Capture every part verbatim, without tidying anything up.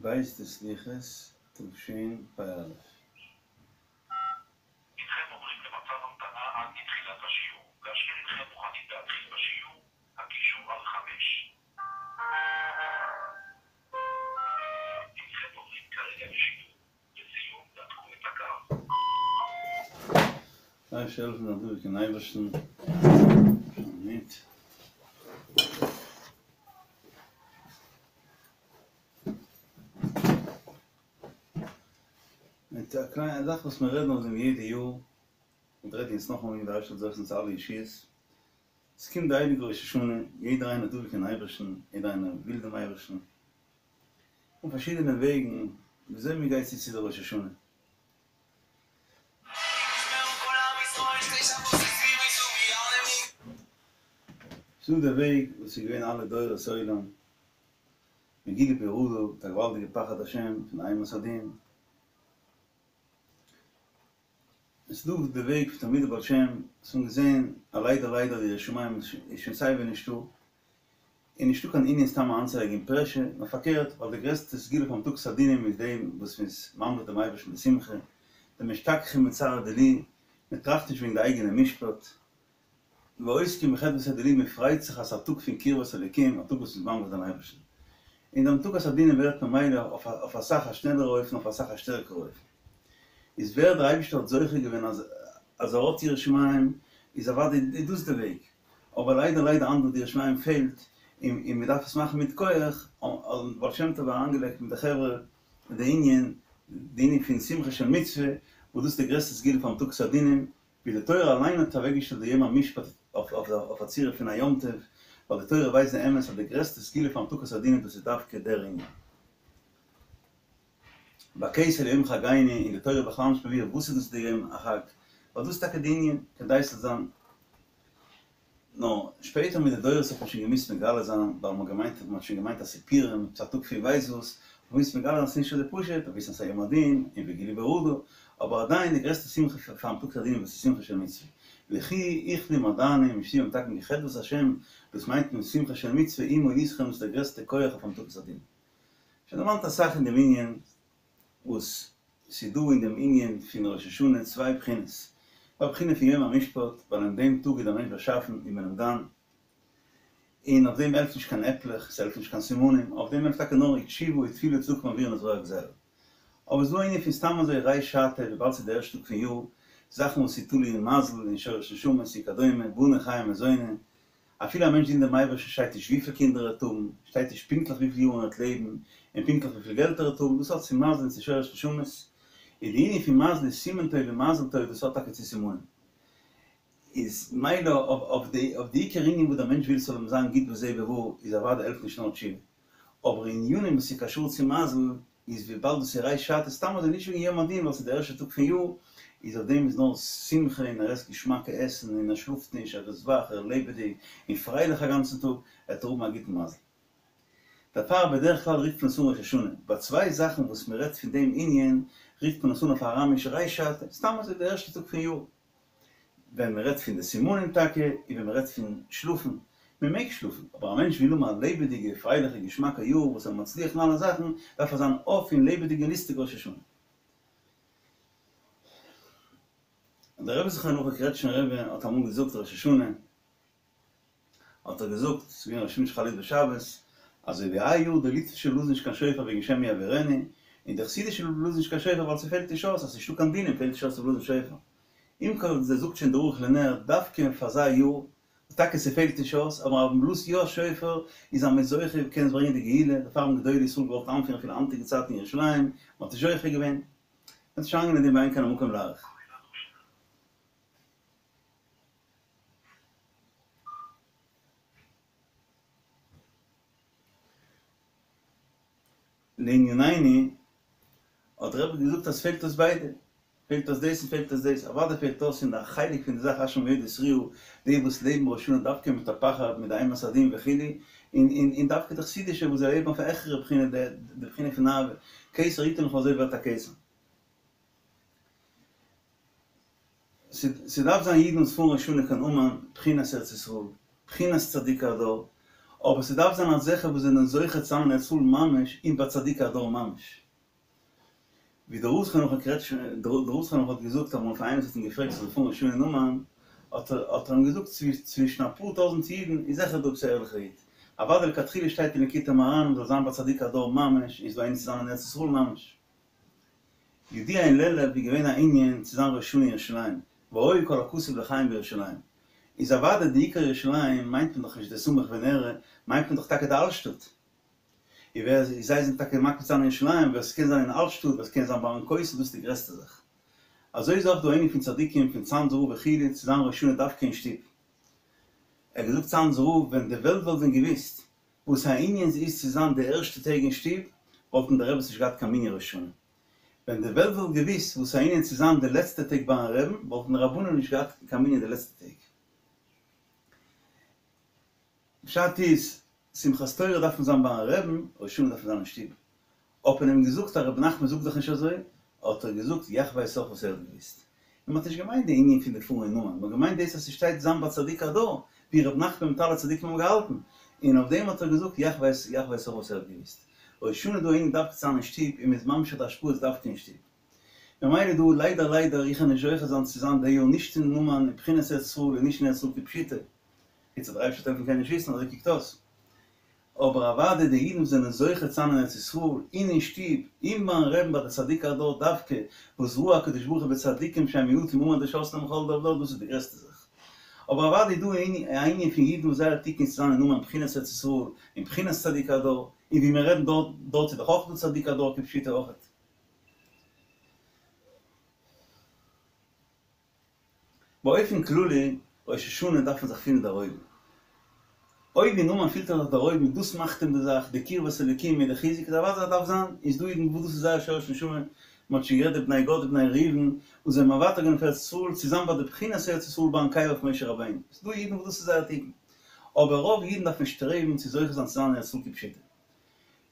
ב' דסליחות תשפ"א. הנכם עוברים למצב המתנה עד לתחילת השיעור. כאשר הנכם מוכנים להתחיל בשיעור, הקישו על חמש. הנכם עוברים כרגע לשידור. לסיום, נתקו את הקו. דער אייבערשטער זאל העלפן דעם אייבערשטן. מיט. מיט א קליינע זאך וואס מיר רעדן אויף דעם יעדע יאר, און רעדן יעצט נאכאמאל דער אייבערשטער זאל זוכה זיין צו אלע ישועות. עס קומט די הייליגע ראש השנה, יעדער איינער דבוק אין אייבערשטן, יעדער איינער וויל דעם אייבערשטן, און פארשידענע וועגן וויאזוי מען גייט צו צו די ראש השנה. ס'איז דא די וועג וואס איז געווען אלע דורות עולם, מגילה ביראה, מיט א געוואלדיגע פחד השם פון אימת הדין. עס איז דא די וועג פון תלמידי בעל שם וואס האבן געזען אז ליידער ליידער די יראת שמים איז שוין סייווי נישטא, און נישטא קיין ענין סתם אריינצולייגן פרעשור, נאר פארקערט, ווייל די גרעסטע סגולה פאר המתקת הדינים איז דעם וואס מען איז ממליך דעם אייבערשטן בשמחה, דמשתכחין בצערא דילי, מען טראכט נישט וועגן די אייגענע משפט, ועוסקים בחדוותא דילי, מען פרייט זיך אז ס'איז א טאג פון קרבת אלוקים, א טאג וואס מ'איז ממליך דעם אייבערשטן. און די המתקת הדינים ווערט ממילא אויף אסאך א שנעלערע אופן, אויף אסאך א שטערקערע אופן. איז ווער דער אייבערשטער האט זוכה געווען אז אז ער האט יראת שמים, איז אוודאי איז דאס די וועג. אבער ליידער ליידער אנדערע די יראת שמים פעלט, און און מ'דארף עס מאכן מיט כח, האט בעל שם טוב אריינגעלייגט מיט די חברה די ענין, די ענין פון שמחה של מצוה, וואס דאס איז די גרעסטע סגולה פאר המתקת הדינים, ווי די תורה אליין האט אוועקגעשטעלט די יום המשפט אויף א צורה פון א יום טוב, ווייל די תורה ווייסט די אמת אז די גרעסטע סגולה פאר המתקת הדינים דאס איז דווקא דער ענין. בכסה ליום חגנו, און די תורה בכלל נישט מבאר וואס איז דאס די יום החג, ווייל דאס איז טאקע די ענין, כדי ס'זאל זיין. נאר שפעטער מיט די דורות האט מען שוין געמוזט מגלה זיין, ווייל מ'האט געמיינט, מ'האט שוין געמיינט אז ס'איז פורים, ס'איז א טאג פון ווייס וואס, מ'האט געמוזט מגלה זיין ס'איז נישט אזוי פשוט, אויף וויסן אז ס'איז א יום הדין, און וגילו ברעדה, אבער עדיין די גרעסטע שמחה פאר המתקת הדינים וואס איז שמחה של מצוה. לכו אכלו מעדנים ושתו ממתקים כי חדות השם, דאס מיינט מען שמחה של מצוה עמה אתכם דאס איז דער גרעסטע כח אויף המתקת הדין. שוין דערמאנט אסאך אין דעם ענין וואס ס'איז דא אין דעם ענין פון ראש השנה צוויי בחינות, א בחינה פון יום המשפט, ווייל אין דעם טאג איז דער מענטש באשאפן און מען אים דן, און אויף דעם העלפט נישט קיין עפלעך, ס'העלפט נישט קיין סימנים, אויף דעם העלפט טאקע נאר תשובה ותפילה וצדקה מעבירין את רוע הגזירה. אבער ס'איז דא א ענין פון סתם אזוי ריש שעתא, וויבאלד ס'איז די ערשטע טאג פון יאר, זאכן וואס איז תלוי אין מזל, אין שורש נשמות וכדומה, בני חיי מזוני, אפילו א מענטש דינט דעם אייבערשטן שטייט נישט וויפיל קינדער ער וועט האבן, שטייט נישט פונקטליך וויפיל יארן ער וועט לעבן, און פונקטליך וויפיל געלט ער וועט האבן, דאס האט צו מזל און צו שורש נשמות, און די ענין פון מזל איז סימן טוב און מזל טוב, דאס האט טאקע צו סימנים. איז מילא אויף די אויף די עיקר ענין וואס דער מענטש וויל ס'זאל אים זיין גוט בזה ובבא איז אוודאי העלפט נישט נאר תשובה, אבער אין ענינים וואס איז קשור צו מזל איז וויבאלד דאס איז ריש שעתא סתם אזוי נישט וועגן יום הדין ווייל ס'איז די ערשטע טאג פון יאר, איז אויף דעם איז נאר שמחה און ער עסט געשמאקע עסן און ער שלאפט נישט ער איז וואך ער איז לעבעדיג און פרייליך א גאנצן טאג, ער וועט האבן א גוטן מזל. דערפאר בדרך כלל רופט מען עס אן ראש השנה, ביי צוויי זאכן וואס מען רעדט פון דעם ענין רופט מען עס אן אויף אראמיש ריש שעתא, סתם אזוי די ערשטע טאג פון יאר. ווען מען רעדט פון די סימנים טאקע, און ווען מען רעדט פון שלאפן, מען מעג שלאפן, אבער א מענטש וויל האבן א לעבעדיגע, פרייליכע, געשמאקע יאר וואס ער מצליח אין אלע זאכן, דארף ער זיין אויף און לעבעדיג און לוסטיג ראש השנה. דער רבי זכרונו לברכה קרעטשניפער רבי האט אמאל געזאגט ראש השנה, האט ער געזאגט, ס'איז געווען ראש השנה שחל להיות בשבת, אזוי ווי היי יאר די ליטווישע בלאזן נישט קיין שופר וועגן שמא יעבירנו, און די חסידישע בלאזן נישט קיין שופר ווייל ס'פעלט נישט אויס, אז ס'נישטא קיין דינים פעלט נישט אויס צו בלאזן שופר. עם כל זה זאגט שוין דער ערוך לנר דווקא פאר אזא יאר, וואס טאקע ס'פעלט נישט אויס, אבער אז מ'בלאזט יא שופר איז אז מ'איז זוכה קען עס ברענגען די גאולה, דערפאר האבן גדולי ישראל געוואלט איינפירן אפילו היינטיגע צייטן אין ירושלים, מ'האט נישט זוכה געווען. מ'וועט נישט אריינגיין אין דעם ואין כאן המקום להאריך. לענינינו, האט דער רבי געזאגט אז פעלט אויס ביידע, פעלט אויס דאס און פעלט אויס דאס, אוודאי פעלט אויס אין די חלק פון די זאך אשרי מועדי תרועה, די וואס לעבן ראש השנה דווקא מיט א פחד, מיט די אימת הדין וכו', און און און דווקא די חסידישע וואס זיי לעבן אויף א העכערע בחינה, די בחינה פון אהבה, כתר יתן לך אזוי ווערט א כתר. ס'דארף זיין אידן וואס פארן ראש השנה קיין אומאן, בחינת ארץ ישראל, בחינת צדיקי הדור, אבער ס'דארף זיין אזעלכע וואס זענען זוכה צו זיין אין ארץ ישראל ממש און ביי צדיקי הדור ממש. ווי דער רב זכרונו לברכה דער רב זכרונו לברכה האט געזאגט אמאל פאר איינעם וואס האט אים געפרעגט צו זאל פארן ראש השנה אין אומאן, האט ער האט ער אים געזאגט צווישן אפאר טויזנט אידן איז זיכער דא עפעס א ערליכער איד, אוודאי לכתחילה שטייט אין ליקוטי מוהר"ן מ'זאל זיין ביי צדיקי הדור ממש, איז דא איינער צו זיין אין ארץ ישראל ממש. ידוע אין לעלוב איז געווען א ענין צו זיין ראש השנה אין ירושלים, והיה כל הכתוב לחיים בירושלים. איז אוודאי די עיקר ירושלים מיינט מען דאך נישט די סמוך ונראה, מיינט מען דאך טאקע די אלטשטאט. און ווער זיי זענען טאקע מקפיד צו זיין אין ירושלים, ווער ס'קען זיין אין אלטשטאט, ווער ס'קען זיין ביים כותל, דאס איז די גרעסטע זאך. אזוי איז אויך דא ענין פון צדיקים פון צאנזער רב וכו' צו זיין ראש השנה דווקא אין שטוב. ער האט געזאגט צאנזער רב ווען די וועלט וואלט ווען געוויסט וואס א ענין ס'איז צו זיין די ערשטע טעג אין שטוב, וואלטן די רעבעס נישט געהאט קיין מנין ראש השנה. ווען די וועלט וואלט געוויסט וואס א ענין צו זיין די לעצטע טעג ביים רעבן, וואלטן די רבנים נישט געהאט קיין מנין די לעצטע טעג. פשט איז, שמחת תורה דארף מען זיין ביים רעבן, ראש השנה דארף מען זיין אין שטוב. האט מען אים געזאגט אז רבי נחמן זאגט דאך נישט אזוי, האט ער געזאגט יאך ווייס אויך וואס ער האט געוויסט. און מ'האט נישט געמיינט די ענין פון די פארן אין אומאן, מ'האט געמיינט דאס אז ס'שטייט זיין ביי צדיק הדור, ווי רבי נחמן מיט אלע צדיקים האבן געהאלטן, און אויף דעם האט ער געזאגט יאך ווייס יאך ווייס אויך וואס ער האט געוויסט. ראש השנה דא ענין דווקא צו זיין אין שטוב און מ'איז ממשיך די השפעות דווקא אין שטוב. ממילא דא ליידער ליידער איך וועל נישט זוכה זיין צו זיין די יאר נישט אין אומאן אין בחינת ארץ ישראל און נישט אין ארץ ישראל כפשוטו, חוץ אז דער אייבערשטער וועט העלפן קען נישט וויסן אזוי קוקט אויס. אבער אוודאי די אידן וואס זענען זוכה צו זיין אין ארץ ישראל, און אין שטוב, און ביים רעבן ביי די צדיקי הדור דווקא, וואס ראה הקדוש ברוך הוא בצדיקים שהם מועטים עמד לשרתם בכל דור ודור, דאס איז די גרעסטע זאך. אבער אוודאי איז דא א ענין פון אידן וואס זייער תיקון איז צו זיין אין אומאן בחינת ארץ ישראל, און בחינת צדיקי הדור, און ווי מיר רעדן דארט, דארט איז דאך אויך דא צדיקי הדור כפשוטו אויכעט. באופן כללי, ראש השנה דארף מען זיך פילן דערהויבן. אויב אין אומאן פילט ער זיך דערהויבן, דאס מאכט אים די זאך, די קרבת אלוקים מיט די חיזוק, איז אוודאי דארף זיין, איז דא אידן וואס דאס איז זייער שורש נשמה, מען האט שוין גערעדט די בני גד די בני ראובן, וואס זענען מוותר געווען אויף ארץ ישראל צו זיין ביי די בחינת ארץ ישראל ביים קבר פון משה רבינו, ס'איז דא אידן וואס דאס איז זייער תיקון. אבער רוב אידן דארפן שטרעבן צו זוכה זיין צו זיין אין ארץ ישראל כפשוטו.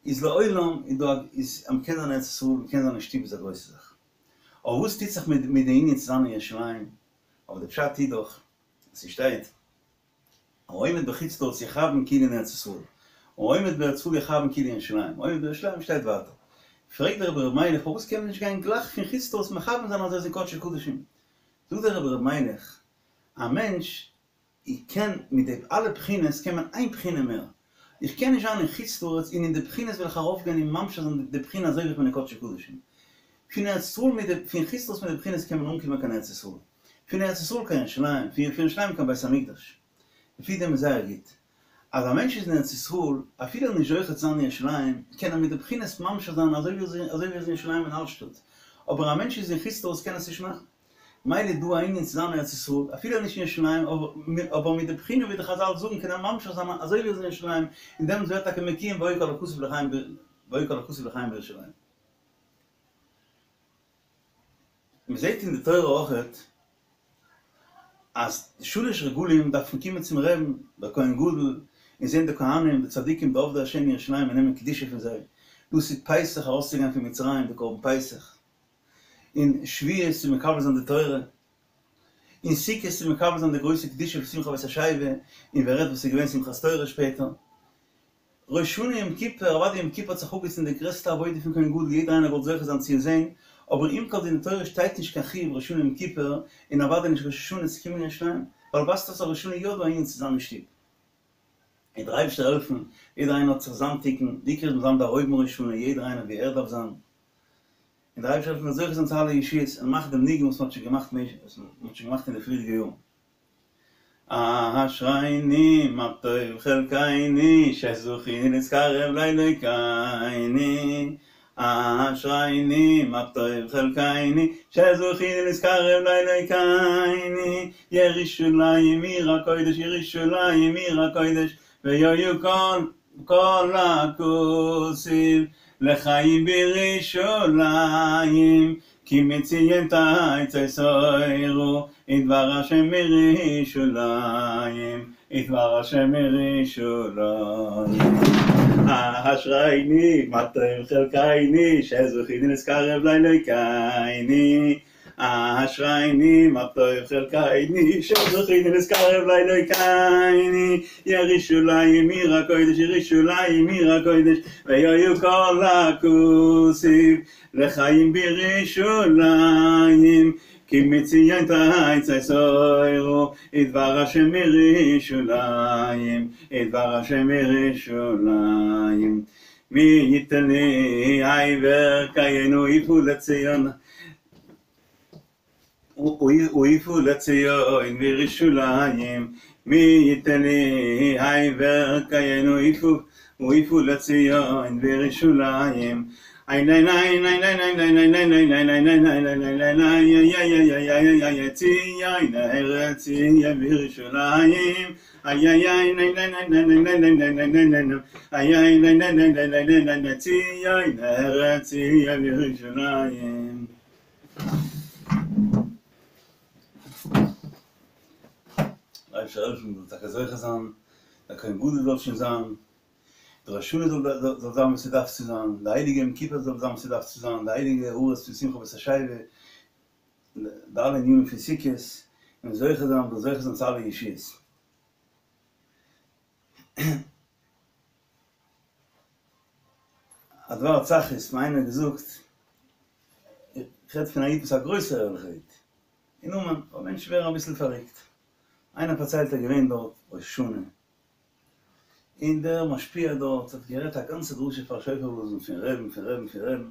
איז לעולם איז דא א איז אז מ'קען זיין אין ארץ ישראל, מ'קען זיין אין שטוב איז א גרויסע זאך. אבער וואס טוט זיך מיט מיט די ענין צו זיין אין ירושלים? אבער די פשט איז דאך, ס'שטייט, העומד בחוץ לארץ יכוון כאילו אין ארץ ישראל, העומד בארץ ישראל יכוון כאילו אין ירושלים, העומד בירושלים שטייט ווייטער. פרעגט דער רבי ר' מיילעך פארוואס קען מען נישט גיין גלייך פון חוץ לארץ מכוון זיין אז ער איז אין קדשי קדשים? זאגט דער רבי ר' מיילעך, א מענטש איך קען מיט די אלע בחינות קען מען איין בחינה מער, איך קען נישט זיין אין חוץ לארץ און אין די בחינות וועל איך ארויף גיין און ממשיך זיין די בחינה אזוי ווי איך בין אין קדשי קדשים. פון ארץ ישראל מיט די פון חוץ לארץ מיט די בחינות קען מען אנקומען קיין ארץ ישראל, פון ארץ ישראל קיין ירושלים, פון ירושלים קיין בית המקדש. לפי דעם איז זייער גוט אז א מענטש איז אין ארץ ישראל, אפילו ער איז נישט זוכה צו זיין אין ירושלים, קען ער מיט די בחינות ממשיך זיין אזוי ווי ער איז אין ירושלים אין אלטשטאט, אבער א מענטש איז אין חוץ לארץ קען עס נישט מאכן. מילא איז דא א ענין צו זיין אין ארץ ישראל, אפילו נישט אין ירושלים, אבער מיט די בחינה ווי די חזל זאגן קען ער ממשיך זיין אזוי ווי ער איז אין ירושלים, און דעמאלטס ווערט טאקע מקוים והיה כל הכתוב לחיים והיה כל הכתוב לחיים בירושלים. מען זעט אין די תורה אויכעט אז די שלש רגלים דארפן קומען צום רעבן, דער כהן גדול, און זען די כהנים, די צדיקים, די עובדי השם אין ירושלים און נעמען קדושה פון זיי. דאס איז פסח ארויסצוגיין פון מצרים, די קרבן פסח. און שבועות צו מקבל זיין די תורה, און סוכות צו מקבל זיין די גרויסע קדושה פון שמחת בית השואבה, און ווער רעדט וואס איז געווען שמחת תורה שפעטער. ראש השנה יום כיפור, אוודאי יום כיפור האט זיך אפגעטון די גרעסטע עבודה פון כהן גדול, יעדער איינער וואלט זוכה זיין צו עס זען, אבער עם כל זה אין די תורה שטייט נישט קיין חיוב ראש השנה יום כיפור, און אוודאי נישט ראש השנה צו קומען אין ירושלים, ווייל ווייזט אויס אז ראש השנה יא דא א ענין צו זיין אין שטוב. און דער אייבערשטער העלפן, יעדער איינער האט זיך זיין תיקון, די עיקר איז מ'זאל זיין דערהויבן ראש השנה, יעדער איינער ווי ער דארף זיין. און דער אייבערשטער העלפן מ'זאל זוכה זיין צו אלע ישועות און מאכן דעם ניגון וואס מ'האט שוין געמאכט וואס מ'האט שוין געמאכט אין די פריערדיגע יארן. אשרינו מה טוב חלקינו שזכינו להתקרב לאלוקינו אשרינו מה טוב חלקינו שזכינו להתקרב לאלוקינו ירושלים עיר הקודש ירושלים עיר הקודש והיה כל כל הכתוב לחיים בירושלים כי מציון תצא תורה ודבר השם מירושלים ודבר השם מירושלים אשרינו מה טוב חלקינו שזכינו להתקרב לאלוקינו אשריני מה טוב חלקני שזכיתי להתקרב לאלוקיני ירושלים עיר הקודש ירושלים עיר הקודש ויהיו כל הכתיב לחיים בירושלים כי מציון תצא תורה ודבר השם מירושלים ודבר השם מירושלים מי יתן לי אבר קיינו יפו לציון ויפו לציון מירושלים מי יתן לי אבר קיינו יפו ויפו לציון בירושלים איי ניי ניי ניי ניי ניי ניי ניי ניי ניי ניי ניי ניי ניי ניי ניי ניי איי איי איי איי איי איי ציון ארץ ציון בירושלים איי איי איי ניי ניי ניי ניי ניי ניי ניי ניי ניי ניי ניי איי איי ניי ניי ניי ניי ניי ניי ניי ניי ציון ארץ ציון בירושלים אייבערשטער העלפן מ'זאל טאקע זוכה זיין, דער כהן גדול זאל שוין זיין, די ראש השנה זאל זאל זיין ווי ס'דארף צו זיין, די הייליגע יום כיפור זאל זיין ווי ס'דארף צו זיין, די הייליגע הארות פון שמחת בית השואבה, די אלע ענינים פון סוכות, און זוכה זיין, מ'זאל זוכה זיין צו אלע ישועות. א דבר צח איז מיר איינער געזאגט, איך רעד פון א איד וואס איז א גרויסער ערליכער איד, אין אומאן, אבער מענטשן ווערן אביסל פארריקט, איינער פארציילט ער איז געווען דארט ראש השנה, און דער משפיע דארט האט גערעדט א גאנצע דרשה פאר שופר בלאזן פון רעבן פון רעבן פון רעבן,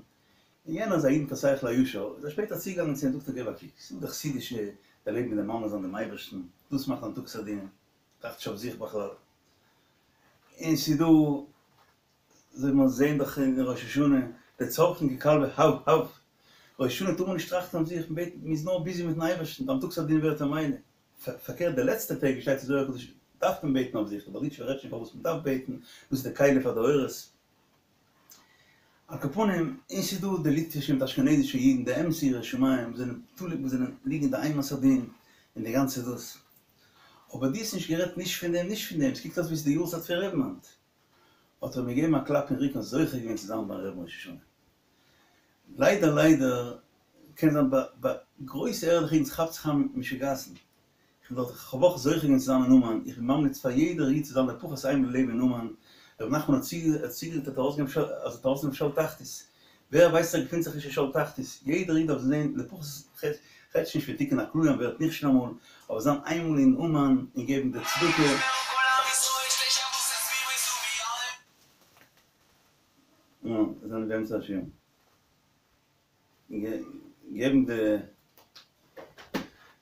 און יענער איז א איד מיט א שכל הישר, איז ער שפעטער צוגעגאנגען צו אים זאגט ער געב א קוק, ס'איז דא די חסידישע די לעבן מיט די ממלא זיין דעם אייבערשטן, דאס מאכט המתקת הדינים, טראכט נישט אויף זיך בכלל, און ס'איז דא אזוי ווי מיר זעהן דאך אין ראש השנה, די צווחין ככלבי הב הב, ראש השנה טאר מען נישט טראכטן אויף זיך, מ'בעט, מ'איז נאר ביזי מיטן אייבערשטן, די המתקת הדין ווערט ממילא. פארקערט די לעצטע טעג ווי שטייט אין זוהר הקדוש דארף מען בעטן אויף זיך, די בארדיטשובער רעדט שוין פארוואס מען דארף בעטן, דאס איז די כלי פאר די אורות. על כל פנים, און ס'איז דא די ליטווישע מיט אשכנזישע אידן, די אמת'ע יראי שמים וואס זענען תלוי וואס זענען ליגן אין די אימת הדין און די גאנצע דאס. אבער דו האסט נישט גערעדט נישט פון דעם נישט פון דעם, ס'קוקט אויס ווי ס'איז די יארצייט פון רעבן היינט. האט ער אים געגעבן א קלאפ אין רוקן זוכה געווען צו זיין ביים רעבן ראש השנה. ליידער ליידער קען זיין ביי ביי גרויסע ערליכע אידן ס'כאפט זיך אן משוגעת'ן, איך בין דארט איך האב אויך זוכה געווען צו זיין אין אומאן, איך בין ממליץ פאר יעדער איד צו זיין לפחות איינמאל אין לעבן אין אומאן, ר' נחמן האט צוגעזאגט ער וועט ארויסגעבן אז ער וועט ארויסנעמען שאול תחתית, ווער ווייסט ער געפינט זיך נישט אין שאול תחתית, יעדער איד דארף זען לפחות כ'רעד נישט פון תיקון הכללי מ'ווערט נכשל אמאל, אבער זיין איינמאל אין אומאן און געבן די צדקה. נו, זענען באמצע השיעור. געבן די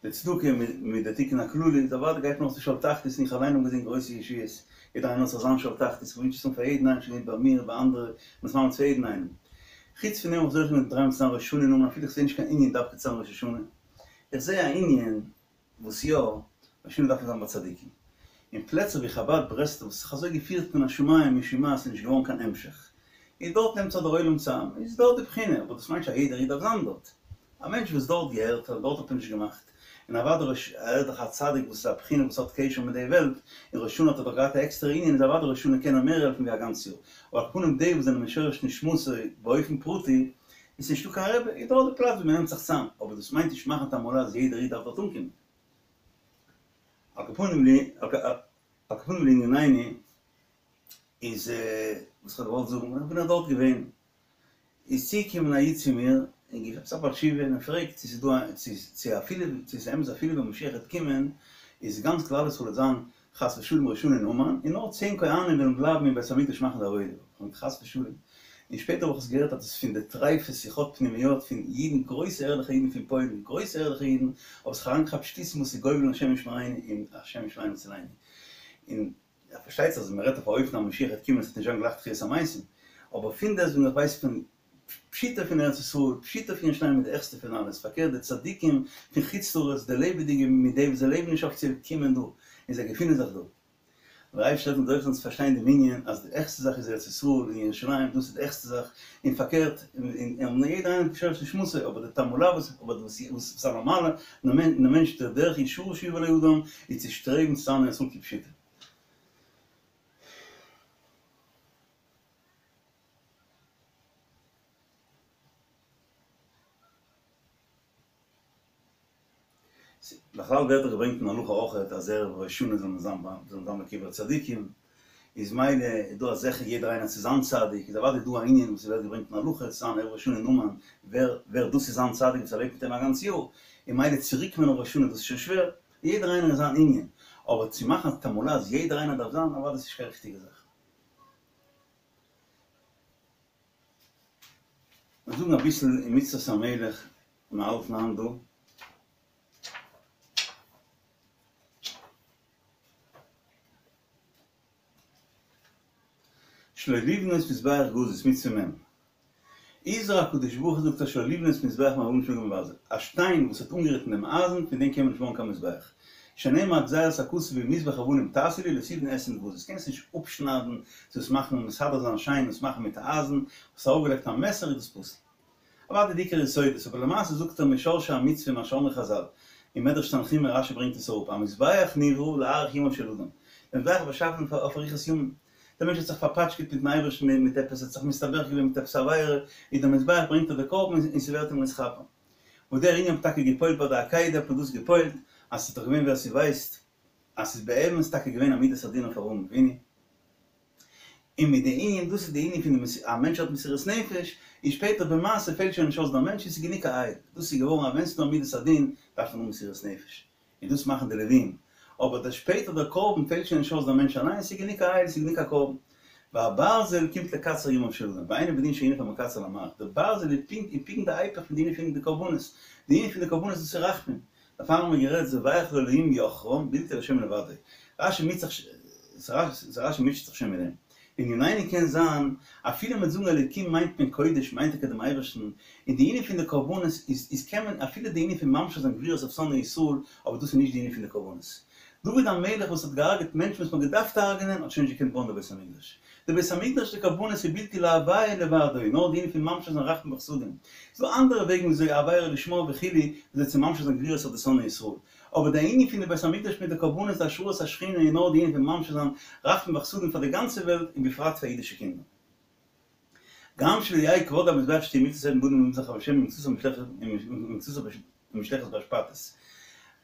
די צדקה מיט די תיקון הכללי, איז אוודאי גייט מען אויס צו שאול תחתית, און איך אליין האב געזען גרויסע ישועות, יעדער איינער האט זיך זיין שאול תחתית, איך וואונטש עס אן פאר יעדן איינעם, שוין געווען ביי מיר, ביי אנדערע, און עס ממליץ פאר יעדן איינעם. חוץ פון דעם האב איך זוכה געווען דריי מאל צו זיין ראש השנה אין אומאן, אפילו איך זעה נישט קיין ענין דווקא צו זיין ראש השנה, איך זעה א ענין וואס יא, ראש השנה דארף מען זיין ביי צדיקים. אין פלעצער ווי חבד ברסלב וואס האט זיך אזוי געפירט מן השמים משום מה ס'איז נישט געווארן קיין המשך. און דארט נעמט זיך דער עולם צאם, איז דארט די בחינה, אבער דאס מיינט נישט אז יעדער איד דארף זיין דארט. א מענטש וואס דארט געהערט ער, דארט האט מען נישט געמאכט. און אוודאי ראש ער איז דאך א צדיק וואס איז א בחינה וואס האט קשר מיט די וועלט, און ראש השנה האט ער דאך געהאט א עקסטערע ענין, איז אוודאי ראש השנה קען ער מער העלפן ווי א גאנץ יאר. אבער על כל פנים די וואס זענען משורש נשמתו באופן פרטי, איז נישטא קיין רבי, איז דארט די פלאץ ווי מ'נעמט זיך צאם, אבער דאס מיינט נישט מאכן תעמולה אז יעדער איד דארף דארט אנקומען. על כל פנים על כל פנים לענינינו איז וואס כ'האב געוואלט זאגן, איך בין דאך דארט געווען, איז צוגעקומען א איד צו מיר און געפרעגט א בעל תשובה און ער פרעגט צו ס'איז דא א צו צו אפילו צו ס'איז אמת אפילו ווען משיח וועט קומען איז גאנץ כלל ישראל וועט זיין חס ושלום ראש השנה אין אומאן, און נאר צען כהנים וועלן בלייבן אין בית המקדש מאכן די עבודה, און חס ושלום. און שפעטער האב איך עס געהערט אז דאס איז פון די טרייפע שיחות פנימיות פון אידן, גרויסע ערליכע אידן פון פוילן, גרויסע ערליכע אידן, האבן זיך אריינגעכאפט שטותים וואס איז גובלים השם ישמרינו און השם ישמרינו ויצילנו. און פארשטייט זיך אז מען רעדט אויף א אופן אז משיח וועט קומען עס וועט נישט זיין גלייך תחיית המתים, אבער פונדעסטוועגן איך ווייס פון פשיטא פון ארץ ישראל, פשיטא פון ירושלים איז די העכסטע פון אלעס, פארקערט די צדיקים פון חוץ לארץ, די לעבעדיגע מיט די וואס זיי לעבן נישט אפיציעל קומען דא, און זיי געפינען זיך דא. דער אייבערשטער העלפן זוכה זיין צו פארשטיין דעם ענין אז די העכסטע זאך איז ארץ ישראל און ירושלים, דאס איז די העכסטע זאך, און פארקערט, און יעדער איינער משורש נשמתו, אבער די תעמולה וואס אבער וואס איז א נארמאלע מענטש דער דרך ישרה שיבוא לאדם איז צו שטרעבן צו זיין אין ארץ ישראל כפשוטו. בכלל ווערט דאך געברענגט אין הלכה אויכעט אז ערב ראש השנה זאל מען זיין ביי זאל מען זיין ביי קברי צדיקים, איז מילא איז דא א זכר יעדער איינער צו זיין צדיק, איז אוודאי דא א ענין וואס ווערט געברענגט אין הלכה צו זיין ערב ראש השנה אין אומאן, ווער ווער דאס איז זיין צדיק וואס ער לעבט מיט אים א גאנץ יאר, און מילא צוריק קומען אויף ראש השנה דאס איז שוין שווער, יעדער איינער אין זיין ענין, אבער צו מאכן א תעמולה אז יעדער איינער דארף זיין, אוודאי איז נישט קיין ריכטיגע זאך. מיר זאגן אביסל אין מצוות המלך, מיר האלטן היינט דא. שלא לבנות מזבח גזית, מצוה מ'. הזהיר הקדוש ברוך הוא זאגט ער שלא לבנות מזבח מאבנים שנגעו בהן ברזל, א שטיין וואס האט אנגערירט אין דעם אייזן פון דעם קען מען נישט בויען קיין מזבח, שנאמר גזירת הכתוב מזבח אבנים תעשה לי לא תבנה אתהן גזית, קענסט נישט אפשניידן צו עס מאכן מסדר זיין שיין עס מאכן מיט אייזן, האסט ארויפגעלייגט א מעסער איז דאס פסול. אוודאי די עיקר יסודות, אבער למעשה זאגט ער משורשי המצוה מה שאמרו חזל, אין מדרש תנחומא רשי ברענגט עס אראפ, המזבח נברא להאריך ימיו של אדם, דער מזבח איז באשאפן אויף אריכות ימים, דער מענטש האט זיך פארפאטשקעט מיטן אייבערשטן מיט עפעס, האט זיך מסתבך געווען מיט עפעס א עבירה, איז דער מזבח ברענגט ער די קרבן און ס'ווערט אים נתכפר. וואס דער ענין האט טאקע געפועלט ביי די עקידה האט מען דאס געפועלט, אז ס'איז דאך געווען ווער ס'ווייסט אז ס'איז באמת טאקע געווען א מידת הדין אויף אברהם אבינו, און מיט די ענין, דאס איז די ענין פון די א מענטש האט מסירות נפש, און שפעטער במעשה פעלט שוין נישט אויס דער מענטש און ס'איז גענוג א איל, דאס איז געווארן אז ווען ס'איז דא מידת הדין דארף מען האבן מסירות נפש, און דאס מאכן די לווים, אבער דער שפעטער דער קרבן פעלט שוין נישט אויס דער מענטש אליין, ס'איז גענוג א איל, ס'איז גענוג א קרבן. והברזל קומט לקצר ימיו של אדם, ואינו בדין שהונף המקצר למאריך, דער ברזל איז פונקט איז פונקט די היפך פון די ענין פון די קרבנות, די ענין פון די קרבנות דאס איז רחמים, דערפאר האבן מיר גערעדט זובח לאלהים יחרם, בלתי להשם לבדו. רשי מיטשט זיך רשי מיטשט זיך שוין מיט דעם. לענינינו קען זיין, אפילו מיט זאגן אלוקים מיינט מען קודש מיינט טאקע דעם אייבערשטן, און די ענין פון די קרבנות איז איז קען מען אפילו די ענין פון ממשיך זיין גבורות אויף שונאי ישראל, אבער דאס איז נישט די ענין פון די קרבנות. דוד המלך וואס האט געהארגעט מענטשן וואס מ'האט געדארפט הרג'נען האט שוין נישט געקענט בויען די בית המקדש. די בית המקדש די קרבנות איז בלתי להוויה לבדו, נאר די ענין פון ממשיך זיין רחמים וחסדים. ס'דא אנדערע וועגן וויאזוי עבירה לשמה וכו' וויאזוי צו ממשיך זיין גבורות אויף די שונאי ישראל. אבער די ענין פון די בית המקדש מיט די קרבנות די השראת השכינה איז נאר די ענין פון ממשיך זיין רחמים וחסדים פאר די גאנצע וועלט און בפרט פאר אידישע קינדער. גם שלא יהא כבוד המזבח שתהא מקצת אבן בנוי ממזבח השם ומקצתה מושלכת באשפתות.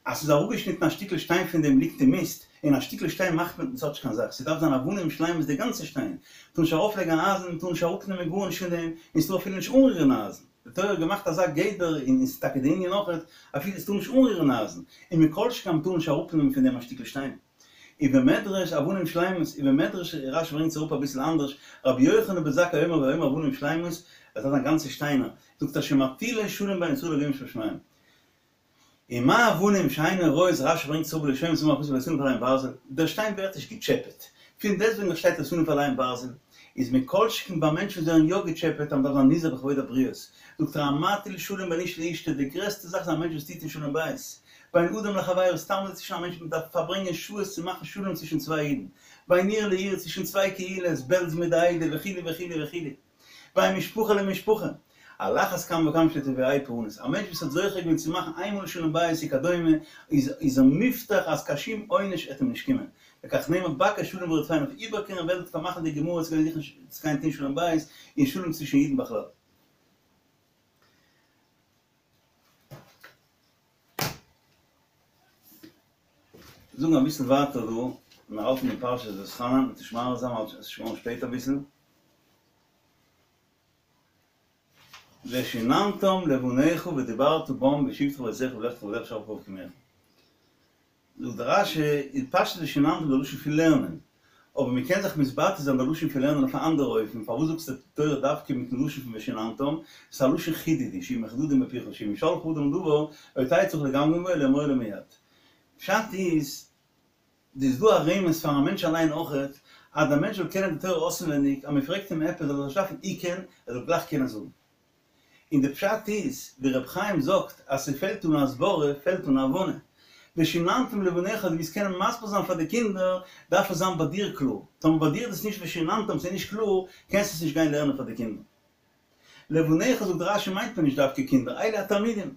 אז ס'איז אראפגעשניטן א שטיקל שטיין פון דעם ליגט אין מיסט, און א שטיקל שטיין מאכט מען ס'האט נישט קיין זאך, ס'דארף זיין אבנים שלימות די גאנצע שטיין, מ'טאר נישט ארויפלייגן א אייזן, מ'טאר נישט אראפנעמען גארנישט פון דעם, און ס'טאר אפילו נישט אנרירן א אייזן, די תורה האט געמאכט אזא גדר, און ס'איז טאקע די ענין אויכעט, אפילו ס'טאר נישט אנרירן א אייזן, און מכל שכן מ'טאר נישט אראפנעמען פון דעם א שטיקל שטיין. ובמדרש אבנים שלימות, ובמדרש רשי ברענגט עס אראפ אביסל אנדערש, רבי יוחנן בן זכאי אומר ואומר אבנים שלימות, עס דארף זיין גאנצע שטיינער, זאגט ער שמטילות שלום בין ישראל לאביהם שבשמים. ומה אבנים שאינן רואות רשי ברענגט עס אראפ בלשונו אמר הכתוב לא תניף עליהם ברזל, דער שטיין ווערט נישט געטשעפעט, פון דעסטוועגן וואס שטייט לא תניף עליהם ברזל, איז מכל שכן ביי מענטשן וואס ווערן יא געטשעפעט אז מ'דארף זיין נזהר בכבוד הבריות, זאגט ער המטיל שלום בין איש לאשתו, די גרעסטע זאך איז א מענטש וואס טוט אין שלום בית, בין אדם לחבירו, סתם אזוי צווישן א מענטש, מ'דארף פארברענגען שעות צו מאכן שלום צווישן צוויי אידן, בין עיר לעיר, צווישן צוויי קהילות, בעלז מיט די עדה, וכו' וכו' וכו', בין משפחה למשפחה, על אחת כמה וכמה שתביאהו פורענות, א מענטש וואס האט זוכה געווען צו מאכן איינמאל שלום בית וכדומה, איז איז ער מובטח אז קיין שום עונש עט אים נישט קומען, לכך נאמר בקש שלום ורדפהו, אויף איבערקערן וועלט, פארמאכן די גמרא צו גיין זוכן צו גיין טון שלום בית און שלום צווישן אידן בכלל. זאגן אביסל ווייטער דא, מיר האלטן אין פרשת ואתחנן, מ'וועט נישט מאריך זיין ווייל עס איז שוין שפעט אביסל. ושיננתם לבניך ודיברת בם בשבתך בביתך ובלכתך ובדרך בשכבך ובקומך. זאגט דער רשי, איז פשטות ושיננתם די לשון פון לערנען, אבער מען קען זיך מתבטא זיין די לשון פון לערנען אויף א אנדערע אופן, פארוואס זאגסטו די תורה דווקא מיטן לשון פון ושיננתם, ס'איז א לשון חידוד, שיהיו מחודדים בפיך, שאם ישאלך אדם דבר, לא תהא צריך לגמגם בו אלא אמור לו מיד. פשט איז, איז דא א רמז פאר א מענטש אליין אויכעט, אז דער מענטש זאל קענען די תורה אויסנווייניג, אז מען פרעגט אים עפעס זאל ער זיך נישט דארפן עיקען, ער זאל גלייך קענען זאגן. און די פשט איז, ווי רבי חיים זאגט, אז ס'פעלט אן הסברה, פעלט אן הבנה. ושיננתם לבניך, דו ווילסט קענען מסביר זיין פאר די קינדער, דארף עס זיין ביי דיר קלאר. טאמער ביי דיר איז עס נישט ושיננתם, ס'איז נישט קלאר, קענסטו עס נישט גיין לערנען פאר די קינדער. לבניך זאגט רשי מיינט מען נישט דווקא קינדער, אלו התלמידים.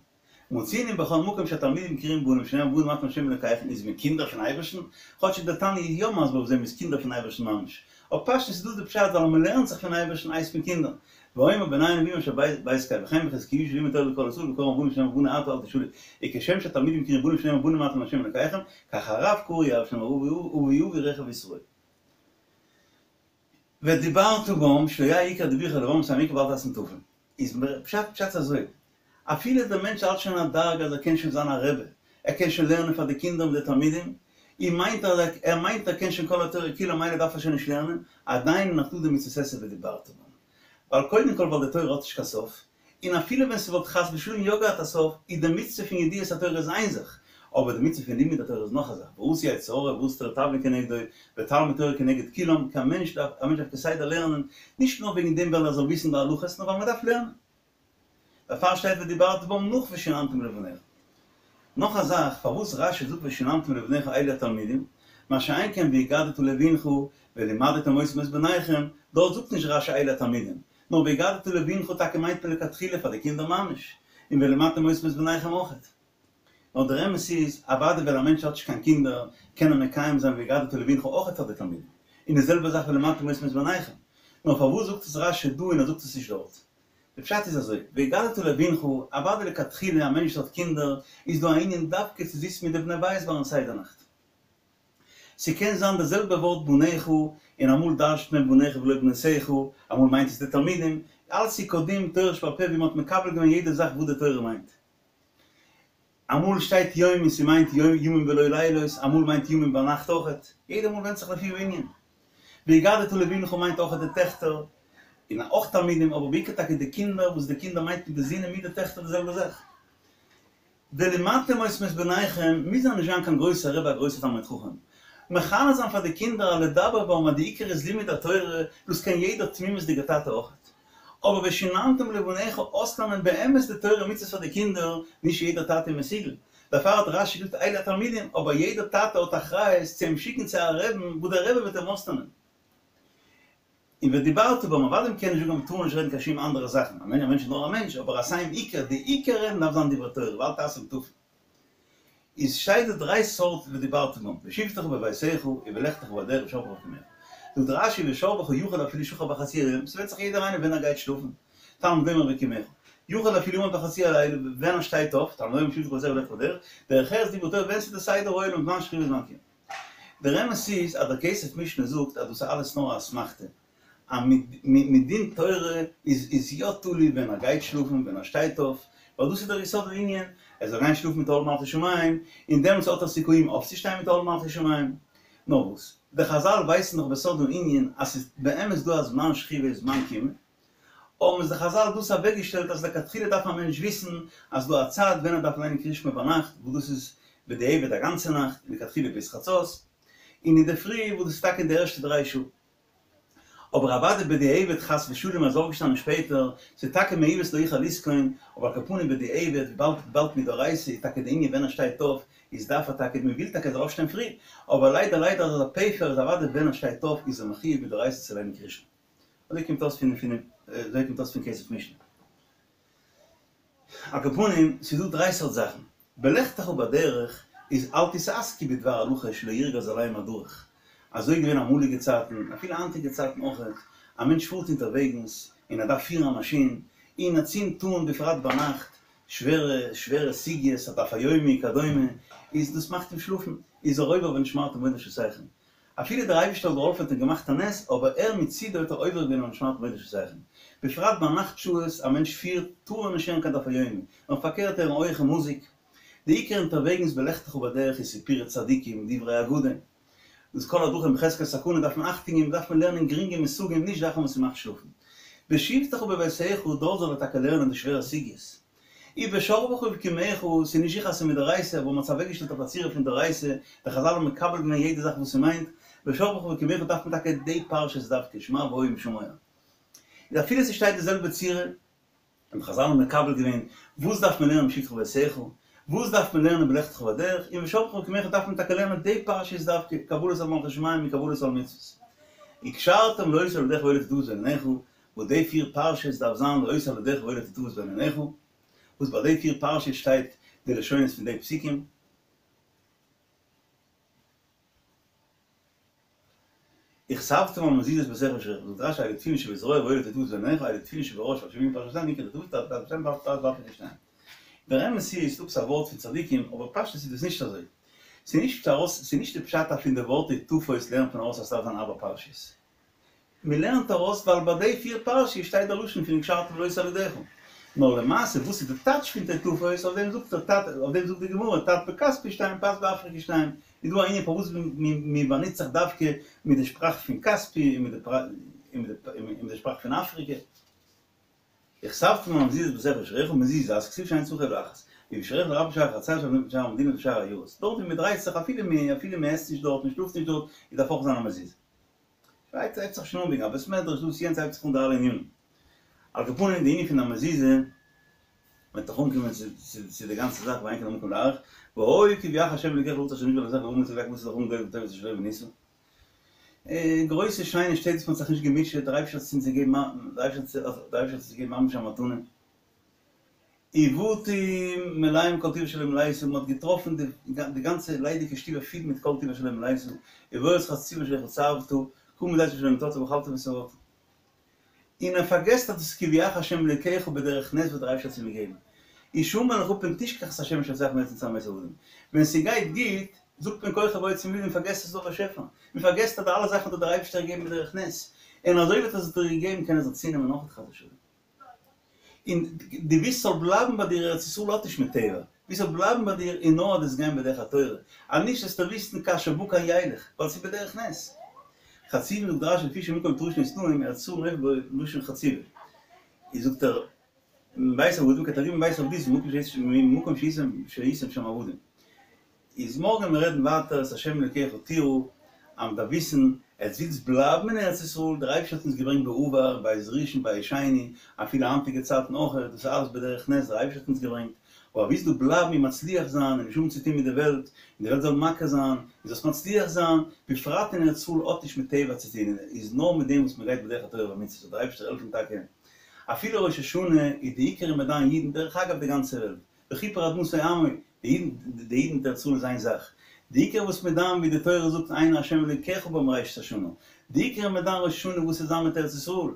מצינו בכל מקום שהתלמידים קרויים בנים שנאמר בנים אתם להשם אלקיכם איז מען קינדער פון אייבערשטן, כאטשיג דער תניא איז יא מסביר אויף דעם מ'איז קינדער פון אייבערשטן ממש, אבער פשטות איז דאס די פשט ווייל אז מ'לערנט זיך פון אייבערשטן הייסט מען קינדער, ואומר בני הנביאים אשר בית קל וכן בחזקיהו שלימד תורה לכל ישראל וקרא בנים שנאמר בני עתה אל תשאלו וכשם שהתלמידים קרויים בנים שנאמר בנים אתם להשם אלוקיכם כך הרב קרוי אב שנאמר אבי אבי רכב ישראל. ודיברת בם שלא יהא עיקר דיבורך אלא בם ס'איז אן עיקר ואל תעשם טפל. איז פשט פשט אזוי אפילו דער מענטש האלט שוין א דרגה אז ער קען שוין זיין א רבי ער קען שוין לערנען פאר די קינדער מיט די תלמידים און מיינט אז ער מיינט ער קען שוין כל התורה כולה מילא דארף ער שוין נישט לערנען עדיין נאך דא די מצות עשה ודיברת בם ווייל קודם כל ווייל די תורה האט נישט קיין סוף, און אפילו ווען ס'וואלט חס ושלום יא געהאט א סוף, איז די מצוה פון ידיעת התורה איז איין זאך, אבער די מצוה פון לימוד התורה איז נאך א זאך, ועשו יצר הרע ועשו תורה תבלין כנגדו, ותלמוד תורה כנגד כולם, קיין מענטש דארף, א מענטש דארף כסדר לערנען, נישט נאר וועגן דעם ווייל ער זאל וויסן די הלכות, נאר ווייל מ'דארף לערנען. דערפאר שטייט ודיברת בם נאך ושננתם לבניך. נאך א זאך, פארוואס רשי זאגט ושננתם לבניך אלו התלמידים, מה שאין כן והגדת לבנך ולמדתם אותם את בניכם, דארט זאגט נישט רשי אלו התלמידים, נאר והגדת לבנך טאקע מיינט מען לכתחילה פאר די קינדער ממש, און ולמדתם אותם את בניכם אויכעט. נאר דער אמת איז, אוודאי ווען א מענטש האט נישט קיין קינדער, קען ער מקיים זיין והגדת לבנך אויכעט פאר די תלמידים, און די זעלבע זאך ולמדתם אותם את בניכם. נאר פארוואס זאגט עס רשי דא און ער זאגט עס נישט דארט? די פשט איז אזוי, והגדת לבנך, אוודאי לכתחילה א מענטש וואס האט קינדער, איז דא א ענין דווקא צו זיצן מיט די בני בית ביים סדר נאכט. ס'קען זיין די זעלבע ווארט בניך, און אמאל דרש'ט מען בניך ולא בנותיך, אמאל מיינט עס די תלמידים, אלץ איז כדין תורה שבעל פה ווי מ'האט מקבל געווען יעדע זאך וואס די תורה מיינט. אמאל שטייט יום און ס'מיינט ימים ולא לילות, אמאל מיינט ימים ביינאכט אויכעט, יעדע מאל ווענדט זיך לפי הענין. והגדת לבנך מיינט אויכעט די טעכטער, און אויך תלמידים, אבער בעיקר טאקע די קינדער, וואס די קינדער מיינט מיט די זין און מיט די טעכטער די זעלבע זאך. ולמדתם אותם את בניכם מוז זיין נישט זיין קיין גרויסער רבי א גרויסער תלמיד חכם. מחנך זיין פאר די קינדער א לדבר בם אז די עיקר איז לימוד התורה, דאס קען יעדער תמימות'דיגער טאטע אויכעט. אבער ושננתם לבניך אויסלערנען באמת די תורה ומצוות פאר די קינדער, נישט יעדער טאטע איז מסוגל. דערפאר האט רשי געזאגט אלו התלמידים, אבער יעדער טאטע האט אחריות צו אים שיקן צו א רעבן וואו דער רבי וועט אים אויסלערנען. און ודיברת בם, אוודאי מ'קען נישט זאגן אז מ'טאר נישט רעדן קיין שום אנדערע זאכן, א מענטש איז נאר א מענטש, אבער אז ס'איז עיקר, די עיקר רעדן דארף זיין דברי תורה, ואל תעשם טפל. איז שטייט די דריי סארט ודיברת בם, בשבתך בביתך ובלכתך בדרך ובשכבך ובקומך. זאגט רשי ובשכבך יכול אפילו שכב בחצי היום, ס'ווענדט זיך יעדער איינער ווען ער גייט שלאפן, תלמוד לומר ובקומך, יכול אפילו עמד בחצי הלילה ווען ער שטייט אויף, תלמוד לומר בשבתך בביתך ובלכתך בדרך, דרך ארץ דברי תורה ווען ס'איז די סדר העולם זמן שכיבה וזמן קימה. דער אמת איז אז דער כסף משנה זאגט אז דאס איז אלעס נאר א אסמכתא, אז מדין תורה איז איז יא תלוי ווען ער גייט שלאפן ווען ער שטייט אויף, ווייל דאס איז דער יסוד הענין, ער זאל גיין שלאפן מיט עול מלכות שמים, און דעמאלטס האט ער סיכויים אויפצושטיין מיט עול מלכות שמים. נאר וואס, די חזל ווייסן דאך בסוד הענין אז ס'איז באמת דא א זמן שכיבה און זמן קימה, האבן עס די חזל דאס אוועקגעשטעלט אז לכתחילה דארף א מענטש וויסן אז דא א צייט ווען ער דארף ליינען קריאת שמע ביינאכט וואס דאס איז בדיעבד א גאנצע נאכט לכתחילה ביז חצות, און אינדערפרי וואס דאס איז טאקע אין די ערשטע דריי שעה. אבער אוודאי בדיעבד חס ושלום אז אויפגעשטאנען שפעטער, ס'איז טאקע מעוות לא יוכל לתקון, אבער על כל פנים בדיעבד וויבאלד וויבאלד מדאורייתא איז טאקע די ענין ווען ער שטייט אויף איז דארף ער טאקע מ'וויל טאקע ער זאל אויפשטיין פרי, אבער ליידער ליידער אז א פעפער איז אוודאי ווען ער שטייט אויף איז ער מחויב מדאורייתא צו ליינען קריאת שמע. אזוי קומט אויס פון פון אזוי קומט אויס פון כסף משנה. על כל פנים, ס'איז דא דריי סארט זאכן. בלכתך בדרך איז אל תתעסקו בדבר הלכה שלא ירגז עליהם הדרך. אזוי איז געווען אמאליגע צייטן, אפילו היינטיגע צייטן אויכעט, א מענטש פארט אונטערוועגנס און ער דארף פירן א מאשין, און ער צינדט אן בפרט ביינאכט שווערע שווערע סוגיות, א דף היומי וכדומה, איז דאס מאכט אים שלאפן, איז ער עובר ונשמרתם מאוד לנפשותיכם. אפילו דער אייבערשטער האט געהאלפען און געמאכט א נס, אבער ער מצידו האט ער עובר געווען אויף ונשמרתם מאוד לנפשותיכם. בפרט ביי נאכט שעות, א מענטש פירט, טאר ער נישט הערן קיין דף היומי, נאר פארקערט הערן הויעכע מוזיק. די עיקר אונטערוועגנס בלכתך בדרך איז סיפורי צדיקים, דברי אגדה. דאס כל הדרכים בחזקת סכנה דארף מען אכטונג געבן, דארף מען לערנען גרינגע מושגים, נישט זאכן וואס ס'מאכט שלאפן. בשבתך בביתך, דארט זאל ער טאקע לערנען די שווערע סוגיות. ובשכבך ובקומך, ס'איז נישט זיכער אז ס'איז מדאורייתא, אבער מ'האט עס אוועקגעשטעלט אויף א צורה פון דאורייתא, די חזל האבן מקבל געווען יעדע זאך וואס ס'מיינט, בשכבך ובקומך דארף מען טאקע די פרשיות דווקא, שמע והיה אם שמוע. איז אפילו ס'שטייט די זעלבע צורה, און די חזל האבן מקבל געווען, וואס דארף מען לערנען בשבתך בביתך, וואס דארף מען לערנען בלכתך בדרך, און בשכבך ובקומך דארף מען טאקע לערנען די פרשיות דווקא, קבלת עול מלכות שמים און קבלת עול מצוות. וקשרתם לאות על ידך והיו לטוטפות בין עיניך, וואס די פיר פרשות דארף זיין לאות על ידך והיו לטוטפות בין עיניך, וואס ביי די פיר פרשות שטייט די לשונות פון די פסוקים. וכתבתם על מזוזות ביתך ובשעריך, זאגט רש"י אלו תפילין שבזרוע ואלו טוטפות בין עיניך, אלו תפילין שבראש שבשבעים פרשותיהן עיקר טוטפות ת"ת פרשת באפריקע שתיים. דער אמת איז, ס'דא עפעס א ווארט פון צדיקים, אבער פשטות איז דאס נישט אזוי. ס'איז נישט ארויס, ס'איז נישט די פשט אז פון די ווארט טוטפות לערנט מען ארויס אז ס'דארף זיין ארבע פרשיות. מ'לערנט ארויס ווייל ביי די פיר פרשיות שטייט דער לשון פון וקשרתם לאות על ידך. נאר למעשה וואס איז די טייטש פון טוטפות, אויף דעם זאגט דער תת, אויף דעם זאגט די גמרא, תת בכספי שתיים פת באפריקע שתיים, איז דא א ענין פארוואס מ'באנוצט זיך דווקא מיט די שפראך פון כספי און מיט די שפראך פון אפריקע. וכתבתם על מזוזות ביתך ובשעריך מזוזה כתיב שאין צריכה אלא אחת ובשעריך לרבות שער החצר שער המדינה ושער העיירות דארט ווי מ'דרייט זיך אפילו אפילו מ'עסט נישט דארט מ'שלאפט נישט דארט איז דארף אויך זיין א מזוזה. ווייטער הייבט זיך שוין אן וועגן א בית מדרש דאס יענץ הייבט זיך אן די אלע ענינים. על כל פנים די ענין פון א מזוזה וועט דאך אנקומען צו די גאנצע זאך ואין כאן המקום להאריך והיה כי יביאך ה' אלוקיך לארץ אשר נשבע לאבותיך לאברהם ליצחק וליעקב לתת לכם גואל וטוב אשר לא בנית. גרויסע שיינע שטעט וואס מ'האט זיך נישט געמוטשעט, דער אייבערשטער האט אונז געגעבן דער אייבערשטער האט אונז געגעבן ממש א מתנה. ובתים מלאים כל טוב אשר לא מלאת, מ'האט געטראפן די גאנצע ליידיגע שטובער פיל מיט כל טוב אשר לא מלאת, ובארץ חצובה אשר לא חצבת, כרמים וזיתים אשר לא נטעת ואכלת ושבעת. און ער פארגעסט אז דאס איז כי הביאך ה' אלוקיך בדרך נס וואס דער אייבערשטער האט אים געגעבן. השמר לך פן תשכח את ה' אשר הוציאך מארץ מצרים בית עבדים. ווען ס'גייט גוט, זאגט מען כוחי ועוצם ידי, מ'פארגעסט אז ס'איז דא א באשעפער. מ'פארגעסט אז די אלע זאכן האט דער אייבערשטער געגעבן בדרך נס. און אזוי ווי ער האט עס דיר געגעבן קען ער זיך צונעמען אויך חס ושלום. און דו ווילסט ס'זאל בלייבן ביי דיר ארץ ישראל האט נישט מיט טבע, ווילסט ס'זאל בלייבן ביי דיר און נאר דאס גיין בדרך התורה, אז נישט וועסטו וויסן כאשר בא כן ילך, ווייל ס'איז בדרך נס. חצובין זאגט רש"י לפי שמקום תרושים ותנאים ארץ ישראל נופל בו לשון חציבה. איז זאגט ער מבית עבדים כתרגומו מבית עבדות ממקום שהייתם שם עבדים. איז מארגן מיר רעדן ווייטער את השם אלוקיך תירא, אז מ'דארף וויסן, עטס ווילטס בלייבן אין ארץ ישראל, דער אייבערשטער האט אונז געברענגט בעבר, בית ראשון בית שני, אפילו היינטיגע צייטן אויך, דאס איז אלעס בדרך נס, דער אייבערשטער האט אונז געברענגט, אבער ווילסט דא בלייבן און מצליח זיין און נישט האבן צוטון מיט די וועלט, און די וועלט זאל מכיר זיין, און זאלסט מצליח זיין, בפרט אין ארץ ישראל האט נישט מיט טבע צוטון, איז נאר מיט דעם וואס מ'גייט בדרך התורה והמצוות, זאל דער אייבערשטער העלפן טאקע אפילו ראש השנה איז די עיקר איז מען דן אידן, דרך אגב די גאנצע וועלט, וכפר אדמתו עמו, די אידן, די אידן מיט ארץ ישראל איז איין זאך. די עיקר וואס מען דן ווי די תורה זאגט עיני השם אלוקיך בה מראשית השנה. די עיקר מען דן ראש השנה וואס וועט זיין מיט ארץ ישראל.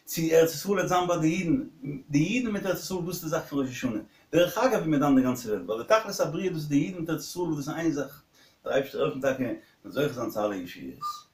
צו ארץ ישראל וועט זיין ביי די אידן. די אידן מיט ארץ ישראל דאס איז די זאך פון ראש השנה. דרך אגב ווי מען דן די גאנצע וועלט. ווייל די תכלית הבריאה דאס איז די אידן מיט ארץ ישראל דאס איז איין זאך. דער אייבערשטער העלפן טאקע מען זאל זוכה זיין צו אלע ישועות.